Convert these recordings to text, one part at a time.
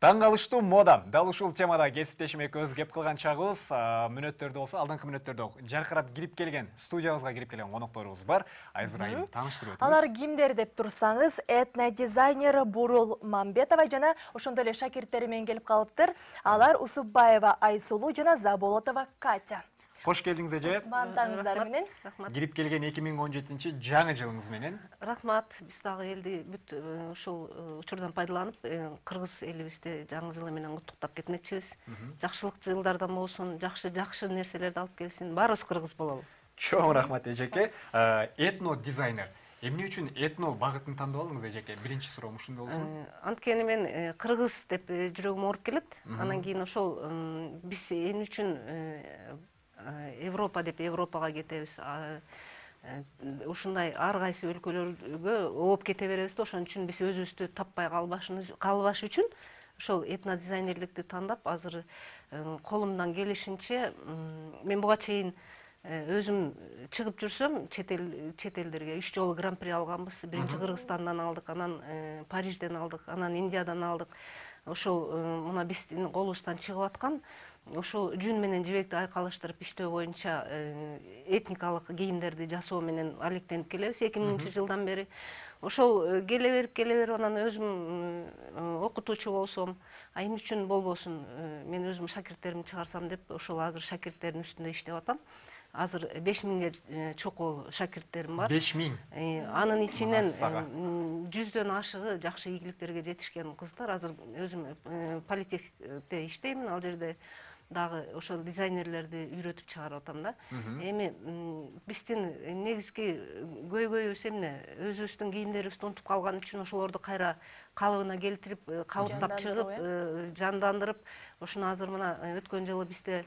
Таң калыштуу мода. Дал ушул темада кесиптешим экөөбүз кеп кылган чагыбыз. Мүнөттөрдө болсо, алдыңкы мүнөттөрдө жаркырап кирип келген, студиябызга кирип келген конокторубуз бар. Айзура айым тааныштырып өтүңүз. Алар кимдер деп турсаңыз, этнодизайнер Бурул Мамбетова жана ошондой эле шакирттери менен келип калыптыр. Алар Усупбаева Айсулуу жана Заболотова Катя. Кош келдиңиз эже. Мантаңыздар менен. Кирип келген 2017 жаңы жылыңыз менен. Рахмат. Биз дагы элди бүт ушул учурдан пайдаланып, кыргыз элибизди жаңы жылы менен куттуктап кетмекчибиз. Жакшылык жылдардан болсун, жакшы нерселерди алып келсин. Баарыбыз кыргыз бололу. Чоң рахмат эжеке. Этно дизайнер. Эмне үчүн этно багытын тандап алдыңыз эжеке? Биринчи суроом ушундай болсун. Анткени мен кыргыз деп жүрөгүм ооруп келет. Анан кийин ошол биз эмне үчүн Европа деп Европага кетебиз. Ушундай ар кайсы өлкөлөргө ооп кете беребиз да, ошон үчүн биз өзүбүздү таппай калбаш үчүн ошол этнодизайнерликти тандап, азыр колумдан келишинче мен буга чейин өзүм чыгып жүрсөм, чет элдерге 3 жолу гран-при алганбыз. Биринчи Кыргызстандан алдык, анан Парижден алдык, анан Индиядан алдык. Ошол мына биздин колубуздан чыгып аткан ошол жүн менен жибекти айкалыштырып иштөө боюнча этникалык кийимдерди жасоо менен алектенип келебиз 2000 жылдан бери. Ошол келе берип анан өзүм окутуучу болсом, эмне үчүн болбосун, мен өзүм шакирттеримди чыгарсам деп ошол азыр шакирттердин үстүндө иштеп атам. Азыр 5000ге чокол шакирттерим бар. 5000. Анын ичинен 100дөн ашыгы жакшы ийгиликтерге жетишкен кыздар. Азыр өзүм политехте иштейм, ал жерде дагы ошол дизайнерлерди үйрөтүп чыгарып атам да. Эми биздин негизги көйгөйүбүз эмне? Өзүбүздүн кийимдерибизди унутуп калган үчүн ошолорду кайра калыбына келтирип, кабыттап чыгып, жандандырып, ошону азыр мына өткөн жылы бизде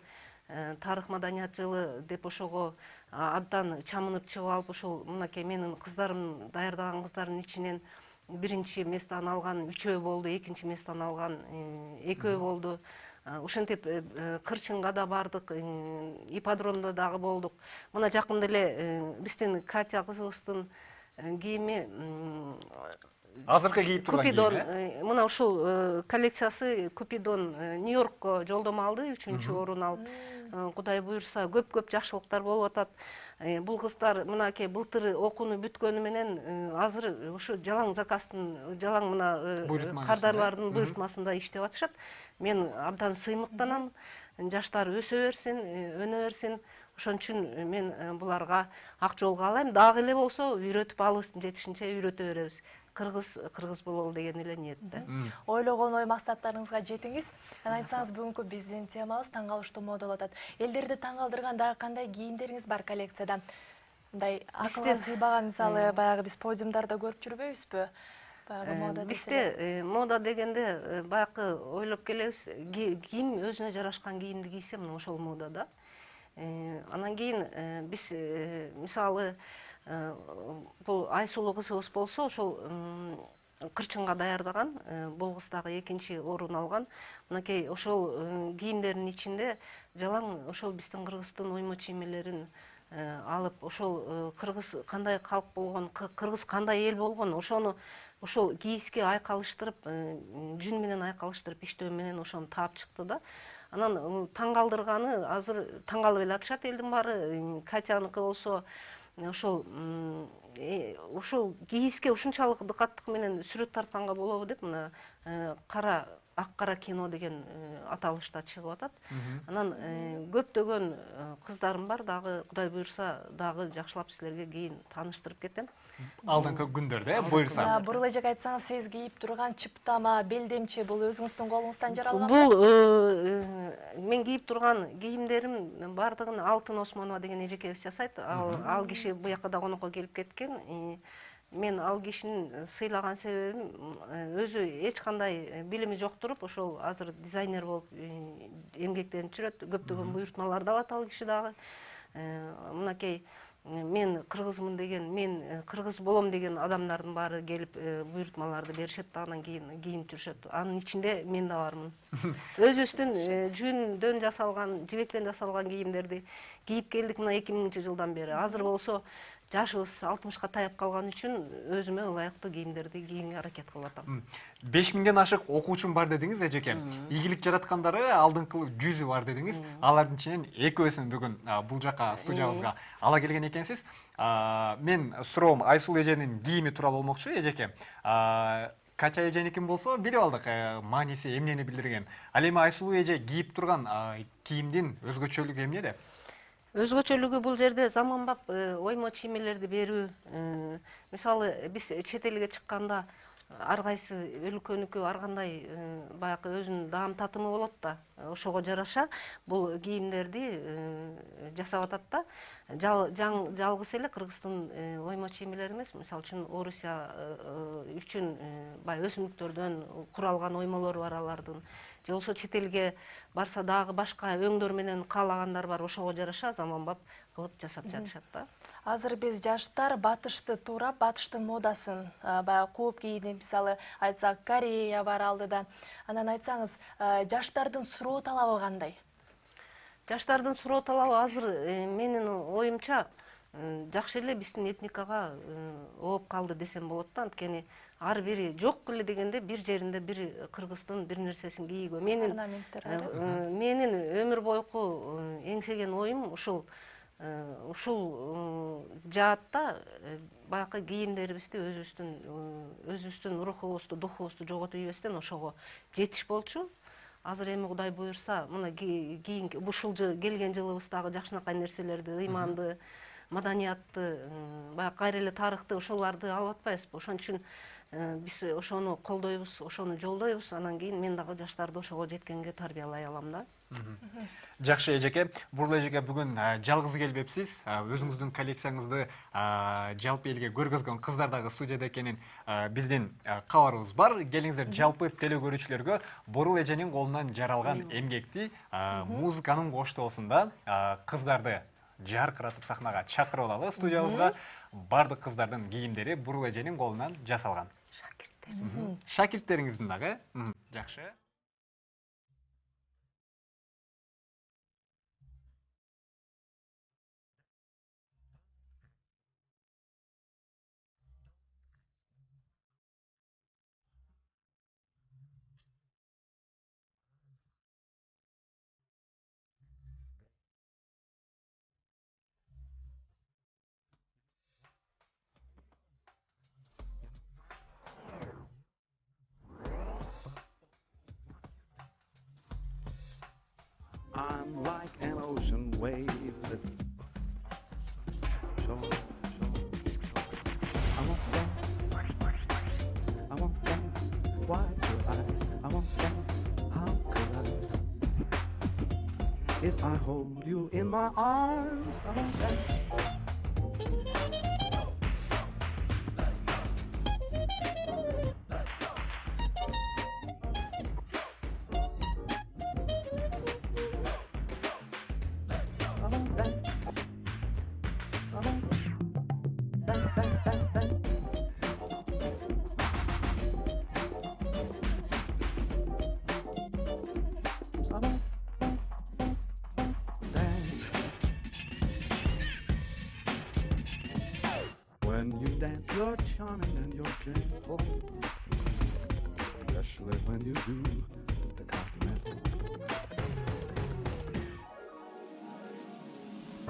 тарых маданият жылы деп ошого абдан чамынып чыгып алып, ошол мынакей менин кыздарым даярдаган кыздардын ичинен биринчи местаны алган 3 болду, экинчи местаны алган 2 болду. Ушинтип Кырчынга да бардык, ипподромдо дагы болдук. Мына жакында эле биздин Катя кызыбыздын кийими азыркы кийип турган кийими. Мына ушул коллекциясы Купидон Нью-Йоркко жолдомо алды, 3-чү орун алып. Кудай буйрса, көп жакшылыктар болуп атат. Бул кыздар мынакей былтыр окууну бүткөнү менен азыр ушу жалаң заказдын, жалаң мына кардарлардын буйртмасында иштеп атышат. Мен абдан сыймыктанам. Жаштар өсө берсин, өнө берсин. Ошон үчүн мен буларга ак жол каалайм. Дагы эле болсо үйрөтүп алыбыздын жетишинче үйрөтө беребиз. Кыргыз бололу деген эле ниетте. Ойлогон ой максаттарыңызга жетиңиз. Анан айтсаңыз, бүгүнкү биздин темабыз таң калыштуу мода болуп атат. Элдерди таң калтырган дагы кандай кийимдериңиз бар коллекцияда? Мындай акылга сыйбаган, мисалы, баягы биз подиумдарда көрүп жүрбөйбүзбү? Бизде мода дегенде баягы ойлоп келебиз, ким өзүнө жарашкан кийимди кийсе, мына ошол мода да. Анан кийин биз мисалы бул Айсулуу кызыбыз болсо, ошол Кырчынга даярдаган, бул кыз дагы экинчи орун алган. Мынакей ошол кийимдердин ичинде жалаң ошол биздин кыргыздын уйму чиймелерин алып, ошол кыргыз кандай калк болгон, кыргыз кандай эл болгон, ошону ошол кийиске айкалыштырып, жүн менен айкалыштырып иштөө менен ошону таап чыкты да. Анан таң калтырганы, азыр таң калып эле атышат элдин баары. Катяныкы болсо ошол кийиске ушунчалык дыкаттык менен сүрөт тартканга болобу деп, мына ак-кара кино деген аталышта чыгып атат. Анан көптөгөн кыздарым бар, дагы Кудай буйрса, дагы жакшылап силерге кийин тааныштырып кетем. Алдыңкы күндөрдө буйрса. Бурул эжеге айтсаңыз, сиз кийип турган чыптама, белдемчи бул өзүңүздүн колуңуздан жаралган? Бул мен кийип турган кийимдерим бардыгын Алтын Осмонова деген эжекебиз жасайт. Ал киши буяка да конокко келип кеткен. Мен ал кишинин сыйлаган себебим, өзү эч кандай билими жок туруп, ошол азыр дизайнер болуп эмгектенип жүрөт. Көптөгөн буйртмаларды алат ал киши дагы. Мынакей мен кыргызмын деген, мен кыргыз болом деген адамдардын баары келип буйртмаларды беришет да, анан кийин кийинип жүрүшөт. Анын ичинде мен да бармын. Өзүбүздүн жүндөн жасалган, жибектен жасалган кийимдерди кийип келдик мына 2000 жылдан бери. Азыр болсо жашыбыз 60-ка таяп калган үчүн өзүмө ылайыктуу кийимдерди кийүүгө аракет кылып атам. 5000ден ашык окуучум бар дедиңиз, эжеке. Ийгилик жараткандары алдыңкы 100 бар дедиңиз. Алардын ичинен экөөсүн бүгүн бул жака студиябызга ала келген экенсиз. Мен суроом Айсулуу эженин кийими тууралуу болмокчу, эжеке. Кача эженикин болсо билип алдык, мааниси эмнени билдирген. Ал эми Айсулуу эже кийип турган кийимдин өзгөчөлүгү эмнеде? Өзгөчөлүгү бул жерде заманбап оймо чиймелерди берүү. Мисалы биз чет элге чыкканда ар кайсы өлкөнүкү ар кандай баягы өзүнүн даам татымы болот да, ошого жараша бул кийимдерди жасап атат да. Жалгыз эле Кыргыздын оймо чиймелери эмес, мисалы үчүн Орусия үчүн баягы өсүмдүктөрдөн куралган оймолору бар алардын. Же болбосо чет элге барса дагы башка өңдөр менен каалагандар бар, ошого жараша заманбап кылып жасап жатышат да. Азыр биз жаштар батышты туурап, батыштын модасын баягы кууп кийди, мисалы айтсак Корея бар алдыда. Анан айтсаңыз, жаштардын суроо талабы кандай? Жаштардын суроо талабы азыр менин оюмча жакшы эле биздин этникага ооп калды десем болот да. Анткени ар бири жок эле дегенде бир жеринде бир кыргыздын бир нерсесин кийүүгө менин өмүр бойку эңсеген оюм ушул жаатта баягы кийимдерибизди өзүбүздүн рухубузду, духубузду жоготуп ийбестен ошого жетиш болчу. Азыр эми Кудай буюрса, мына кийинки ушул келген жылыбыздагы жакшынакай нерселерди, ыйманды, маданиятты, баягы кайра эле тарыхты ошолорду алып атпайбызбы? Ошон үчүн биз ошону колдойбуз, ошону жолдойбуз. Анан кийин мен дагы жаштарды ошого жеткенге тарбиялай алам да. Жакшы эжеке, Буруул эжеке бүгүн жалгыз келбепсиз. Өзүңүздүн коллекцияңызды жалпы элге көргөзгөн кыздар дагы студияда экенин биздин кабарыбыз бар. Келиңиздер, жалпы теле көрүүчүлөргө Буруул эженин колунан жаралган эмгекти музыканын коштоосунда кыздарды жаркыратып сахнага чакырып алалы студиябызга. Бардык кыздардын кийимдери Буруул эженин колунан жасалган. Шакирттериңиздин дагы. Жакшы. I'm like an ocean wave that's shore. I won't dance. I won't dance. Why could I won't dance. How could I? If I hold you in my arms, I won't dance. When you dance, you're charming and you're gentle, especially when you do the continental. I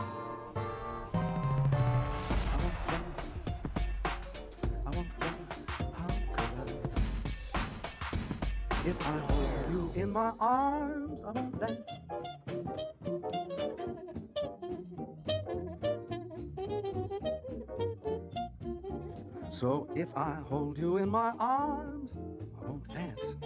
won't dance, how could I? If I hold you in my arms, I won't dance. So if I hold you in my arms, I won't dance.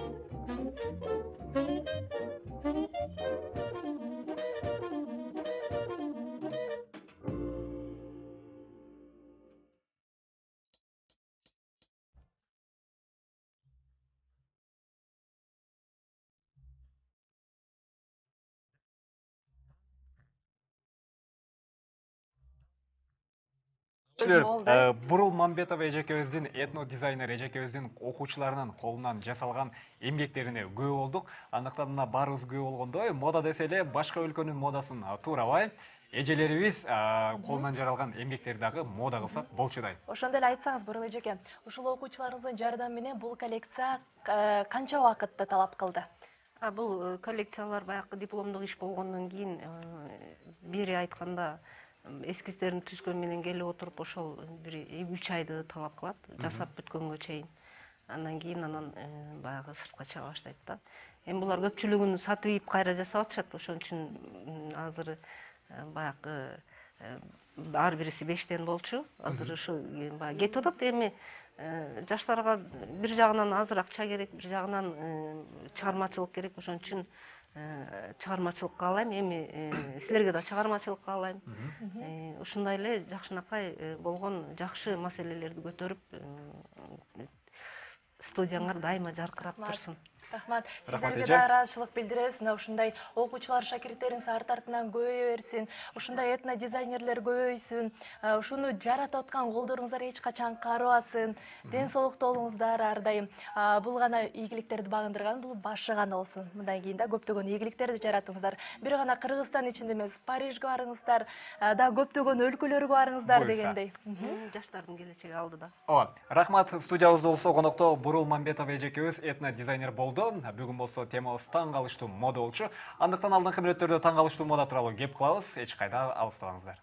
Буруул Мамбетова эжекебиздин, этно дизайнер эжекебиздин окуучуларынын колунан жасалган эмгектерине күбө болдук. Андыктан мына баарыбыз күбө болгондой, мода десе эле башка өлкөнүн модасын туурабай, эжелерибиз колунан жаралган эмгектерди дагы мода кылсак болчу да. Ошондой эле айтсаңыз, Бурлы эжеке, ушул окуучуларыңыздын жардамы менен бул коллекция канча убакытты талап кылды? Бул коллекциялар баягы дипломдук иш болгондон кийин бери айтканда эскиздерин түзгөн менен келип отуруп ошол бир 3 айды талап кылат, жасап бүткөнгө чейин. Андан кийин баягы сыртка чыга баштайт да. Эми булар көпчүлүгүн сатып ийип кайра жасап атышат, ошон үчүн азыр баягы ар бириси 5тен болчу. Азыр ушу баягы кетип атат. Эми жаштарга бир жагынан азыр акча керек, бир жагынан чыгармачылык керек. Ошон үчүн чыгармачылык каалайм. Эми силерге да чыгармачылык каалайм. Ушундай эле жакшынакай болгон жакшы маселелерди көтөрүп студияңар дайыма жаркырап турсун. Рахмат. Сиздерге да ыраазычылык билдиребиз. Мына ушундай окуучулар, шакирттериңиз арт артынан көбөйө берсин. Ушундай этно дизайнерлер көбөйсүн. Ушуну жаратып аткан колдоруңуздар эч качан карыбасын. Ден соолукта болуңуздар ар дайым. Бул гана ийгиликтерди багындырган, бул башы гана болсун. Мындан кийин да көптөгөн ийгиликтерди жаратыңыздар. Бир гана Кыргызстан ичинде эмес, Парижге барыңыздар, да көптөгөн өлкөлөргө барыңыздар дегендей. Жаштардын келечеги алдыда. Ооба, рахмат. Студиябызда болсо конокто Бурул Мамбетов эжекебиз этно дизайнер болду. Бүгүн болсо темабыз таң калыштуу мода болчу. Андыктан алдыңкы мүнөттөрдө таң калыштуу мода тууралуу кеп кылабыз. Эч кайда алыстабаңыздар.